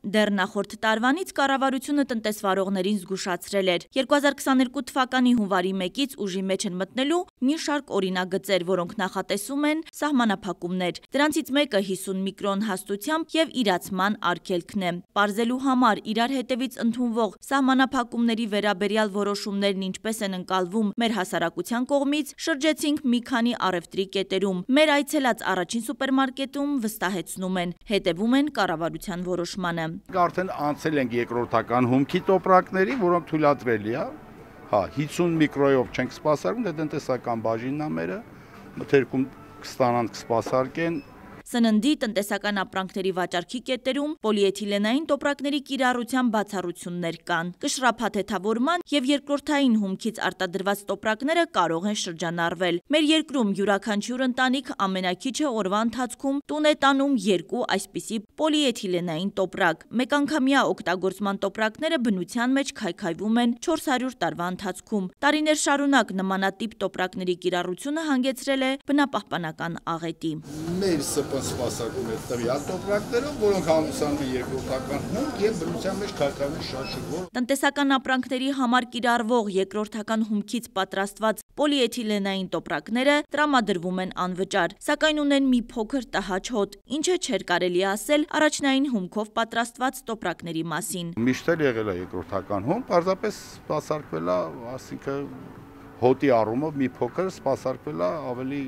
Դեռ նախորդ տարվանից կառավարությունը տնտեսվարողներին զգուշացրել էր 2022 թվականի հունվարի 1-ից ուժի մեջ են մտնելու մի շարք օրինագծեր, որոնք նախատեսում են սահմանափակումներ։ Դրանցից մեկը 50 միկրոն հաստությամբ եւ իրացման արգելքն է։ Պարզելու համար իրար հետևից ընդունվող սահմանափակումների վերաբերյալ որոշումներն ինչպես են ընկալվում մեր հասարակության կողմից, շրջեցինք մի քանի առևտրի կետերում։ Մեր այցելած առաջին սուպերմարկետում վստահեցնում են, հետևում են կառավարության որոշմանը։ Արդեն անցել ենք երկրորդական հումքի տոպրակների, որոնք թույլատրելի է։ 50 միկրոյով չենք սպասարկում, դե տնտեսական բաժինն է մերը, մթերքում կստանան, կսպասարկեն։ Սննդի տնտեսական ապրանքների վաճառքի կետերում պոլիէթիլենային տոպրակների կիրառության բացառություններ կան։ Կշռափաթեթավորման եւ երկրորդային հումքից արտադրված տոպրակները կարող են շրջանառվել։ Մեր երկրում յուրաքանչյուր ընտանիք ամենաքիչը օրվա ընթացքում տուն է տանում 2 այսպիսի պոլիէթիլենային տոպրակ։ Մեկանգամյա օգտագործման տոպրակները բնության մեջ քայքայվում են 400 տարվա ընթացքում։ Տարիներ շարունակ նմանատիպ տոպրակների կիրառությունը հանգեցրել է բնապահպանական աղետի։ Սպասարկում է տվյալ տոպրակներով, որոնք համուսանում են երկրորդական հումք եւ բնության մեջ քայքայվում շատ շուտ։ Տնտեսական ապրանքների համար կիրառվող երկրորդական հումքից պատրաստված պոլիէթիլենային տոպրակները տրամադրվում են անվճար, սակայն ունեն մի փոքր տհաճ հոտ, ինչը չէր կարելի ասել առաջնային հումքով պատրաստված տոպրակների մասին։ Միշտ էլ եղել է երկրորդական հումք, պարզապես սպասարկվել է, ասինքն հոտի առումով մի փոքր սպասարկվել է ավելի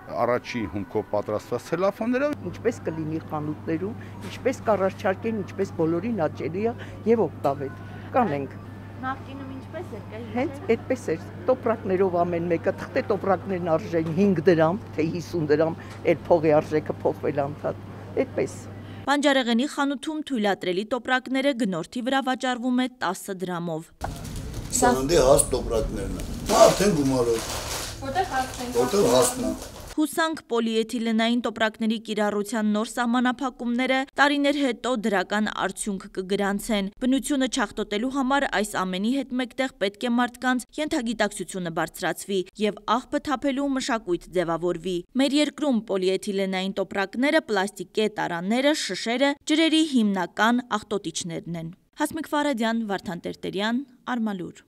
առաջի հումքով պատրաստված ցելոֆանները, ինչպես կլինի խանութներում, ինչպես կառաջարկեն, ինչպես բոլորին հաճելի է եւ օգտավետ։ Կանենք։ Նախկինում ինչպես էր։ Հենց այդպես էր։ Տոպրակներով ամեն մեկը, թղթե տոպրակներն արժեն 5 դրամ, թե 50 դրամ, այդ փողի արժեքը փոխվել անդադ։ Այդպես։ Բանջարեղենի խանութում թույլատրելի տոպրակները գնորդի վրա վաճառվում է 10 դրամով։ Սննդի հաստ տոպրակներն են։ Արդեն գումարով։ Որտեղ հաստնա։ Հուսանք պոլիէթիլենային տոպրակների կիրառության նոր սահմանափակումները տարիներ հետո դրական արդյունք կգրանցեն։ Բնությունը չախտոտելու համար այս ամենի հետ մեկտեղ պետք է մարդկանց ենթագիտակցությունը բարձրացվի եւ աղբը թափելու մշակույթ ձևավորվի։ Մեր երկրում պոլիէթիլենային տոպրակները, պլաստիկե տարաները, շշերը ջրերի հիմնական աղտոտիչներն են։ Հասմիկ Ֆարադյան, Վարդան Տերտերյան, Արմալուր։